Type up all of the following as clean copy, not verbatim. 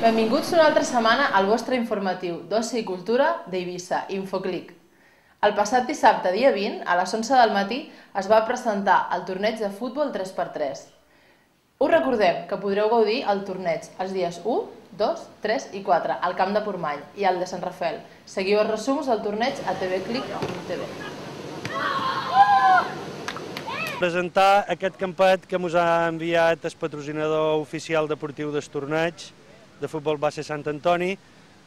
Benvinguts una altra setmana al vostre informatiu d'oci i cultura d'Eivissa, Infoclic. El passat dissabte, dia 20, a les 11 del matí, es va presentar el torneig de futbol 3x3. Us recordem que podreu gaudir el torneig els dies 1, 2, 3 i 4 al Camp de Portmany i al de Sant Rafel. Seguiu els resums del torneig a tvclic.tv. Presentar aquest campet que ens ha enviat el patrocinador oficial deportiu del torneig de futbol base Sant Antoni.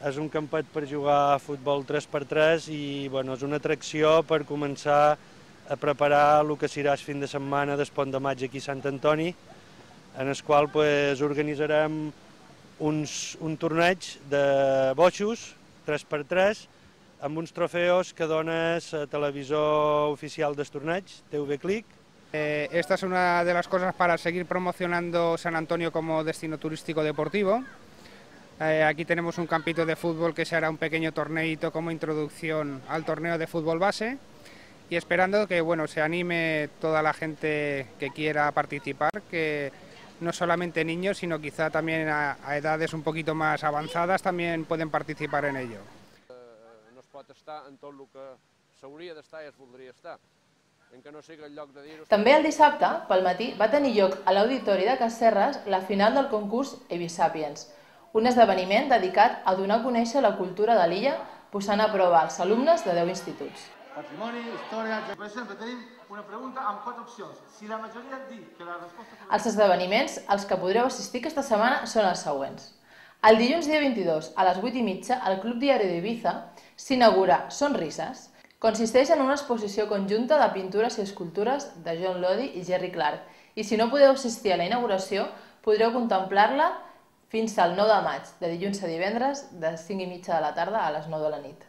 És un campet per jugar a futbol 3x3 i és una atracció per començar a preparar el que serà el fin de setmana del Pont de Maig aquí a Sant Antoni, en el qual organitzarem un torneig de boixos 3x3 amb uns trofeos que dona la televisor oficial del torneig, TVClic. Esta es una de las cosas para seguir promocionando San Antonio como destino turístico deportivo. Aquí tenemos un campito de fútbol que se hará un pequeño torneito como introducción al torneo de fútbol base y esperando que se anime toda la gente que quiera participar, que no solamente niños, sino quizá también a edades un poquito más avanzadas también pueden participar en ello. No es pot estar en tot el que s'hauria d'estar i es voldria estar. També el dissabte, pel matí, va tenir lloc a l'Auditori de Casserres la final del concurs Eivissapiens, un esdeveniment dedicat a donar a conèixer la cultura de l'illa posant a prova els alumnes de 10 instituts. Patrimoni, història... Per exemple, tenim una pregunta amb 4 opcions. Si la majoria diu que la resposta... Els esdeveniments als que podreu assistir aquesta setmana són els següents. El dilluns dia 22, a les 8:30, al Club Diari d'Eivissa s'inaugura Sonrises. Consisteix en una exposició conjunta de pintures i escultures de John Lodi i Jerry Clark, i si no podeu assistir a la inauguració, podreu contemplar-la fins al 9 de maig, de dilluns a divendres, de 5:30 de la tarda a les 9 de la nit.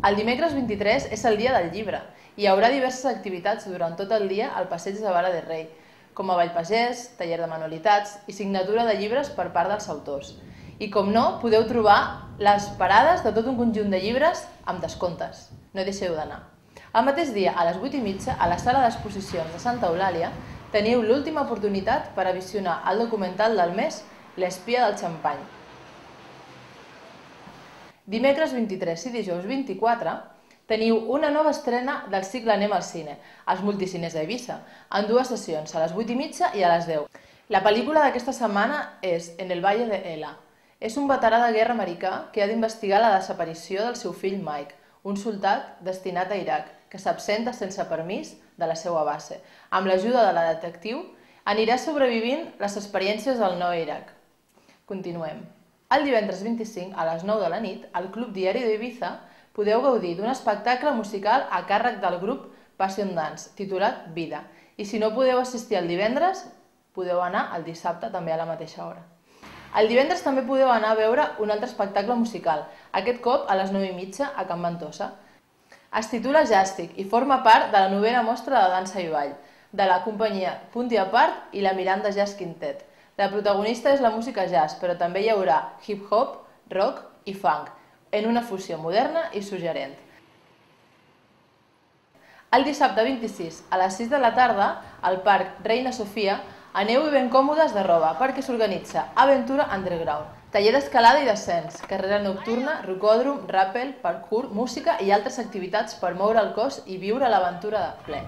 El dimecres 23 és el dia del llibre i hi haurà diverses activitats durant tot el dia al passeig de Vara de Rei, com a ball pagès, taller de manualitats i signatura de llibres per part dels autors. I com no, podeu trobar les parades de tot un conjunt de llibres amb descomptes. No hi deixeu d'anar. El mateix dia, a les 8:30, a la sala d'exposicions de Santa Eulàlia, teniu l'última oportunitat per a visionar el documental del mes L'espia del xampany. Dimecres 23 i dijous 24 teniu una nova estrena del cicle Anem al cine, als multicines d'Eivissa, en 2 sessions, a les 8:30 i a les 10. La pel·lícula d'aquesta setmana és En el Valle de Ela. És un veterà de guerra americà que ha d'investigar la desaparició del seu fill Mike, un soldat destinat a Iraq, que s'absenta sense permís de la seva base. Amb l'ajuda de la detectiu, anirà sobrevivint les experiències del nou Iraq. Continuem. El divendres 25, a les 9 de la nit, al Club Diari d'Eivissa podeu gaudir d'un espectacle musical a càrrec del grup Passion Dance, titulat Vida. I si no podeu assistir el divendres, podeu anar el dissabte també a la mateixa hora. El divendres també podeu anar a veure un altre espectacle musical, aquest cop a les 9:30 a Can Ventosa. Es titula Jàstic i forma part de la 9ª mostra de dansa i ball, de la companyia Punti a Part i la Miranda Jazz Quintet. La protagonista és la música jazz, però també hi haurà hip-hop, rock i funk, en una fusió moderna i suggerent. El dissabte 26, a les 6 de la tarda, al Parc Reina Sofia, aneu-hi ben còmodes de roba, perquè s'organitza Aventura Underground, taller d'escalada i descens, carrera nocturna, rocòdrom, ràpel, parkour, música i altres activitats per moure el cos i viure l'aventura de ple.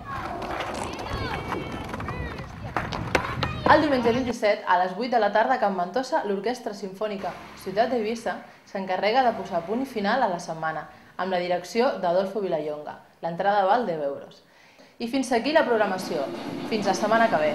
El diumenge 27, a les 8 de la tarda a Can Ventosa, l'Orquestra Simfònica Ciutat d'Eivissa s'encarrega de posar punt i final a la setmana, amb la direcció d'Adolfo Vilallonga. L'entrada val 10 euros. I fins aquí la programació. Fins la setmana que ve.